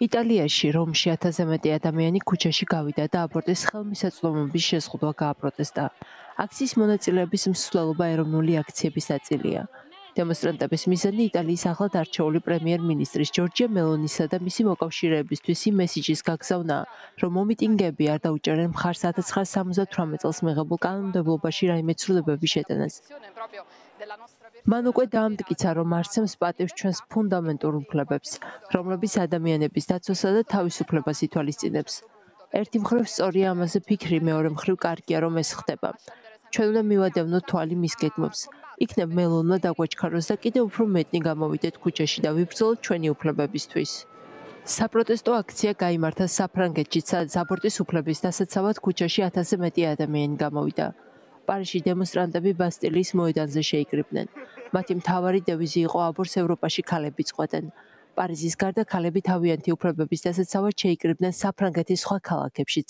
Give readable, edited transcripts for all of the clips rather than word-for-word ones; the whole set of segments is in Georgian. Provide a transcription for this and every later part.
იტალიაში, რომში 1000-ზე მეტი ადამიანი ქუჩაში გავიდა და აბორტის ხელმისაწვდომობის შეზღუდვა გააპროტესტა. აქციის მონაწილეების მსვლელობა ეროვნული აქციების ნაწილია. დემონსტრანტების მიზანი იტალიის ახლად არჩეული პრემიერ-მინისტრის ჯორჯია მელონისა და მისი მოკავშირეებისთვის იმ მესიჯის გაგზავნა, რომ მომიტინგეები არ დაუჭერენ მხარს 1978 წელს მიღებულ კანონმდებლობაში რაიმე ცვლილებების შეტანას. მან უკვე დაამტკიცა, რომ არსებობს პატივს ჩვენს ფუნდამენტურ უფლებებს, რომლებიც ადამიანების დაცვასა და თავისუფლებას ითვალისწინებს. ერთი მხრივ სწორია ამაზე ფიქრი, მეორე მხრივ კარგია, რომ ეს ხდება. ჩვენ უნდა მივადევნოთ თვალი მის გეგმებს. იქნებ მელონმა დაგვაჩქაროს და კიდევ უფრო მეტნი გამოვიდეთ ქუჩაში და ვიბრძოლოთ ჩვენი უფლებებისთვის. საპროტესტო აქცია გაიმართა საფრანგეთში, სადაც აბორტის უფლების დასაცავად ქუჩაში 1000-ზე მეტი ადამიანი გამოვიდა. პარიზში დემონსტრანტები ბასტილიის მოედანზე შეიკრიბნენ. მათი მთავარი დევიზი იყო აბორტს ევროპაში ქალები წყვეტენ. პარიზის გარდა ქალები თავიანთი უფლებების დასაცავად შეიკრიბნენ საფრანგეთის სხვა ქალაქებშიც.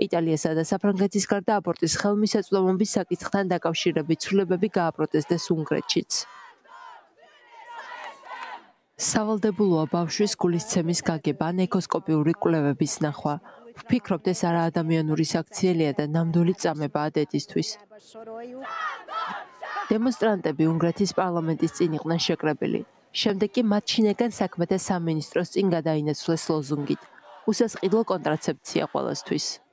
იტალიასა და საფრანგეთის გარდა აბორტის ხელმისაწვდომობის საკითხთან დაკავშირებით ცვლილებები გააპროტესტეს უნგრეთშიც. სავალდებულოა ბავშვის გულისცემის გაგება ან ეკოსკოპიური კვლევების ნახვა. ვფიქრობთ, ეს არაადამიანური საქციელია და ნამდვილი წამებაა დედისთვის. დემონსტრანტები უნგრეთის პარლამენტის წინ იყვნენ შეკრებილი. შემდეგ კი მათ შინაგან საქმეთა სამინისტროს წინ გადაინაცვლეს ლოზუნგით: უსასყიდლო კონტრაცეფცია ყველასთვის.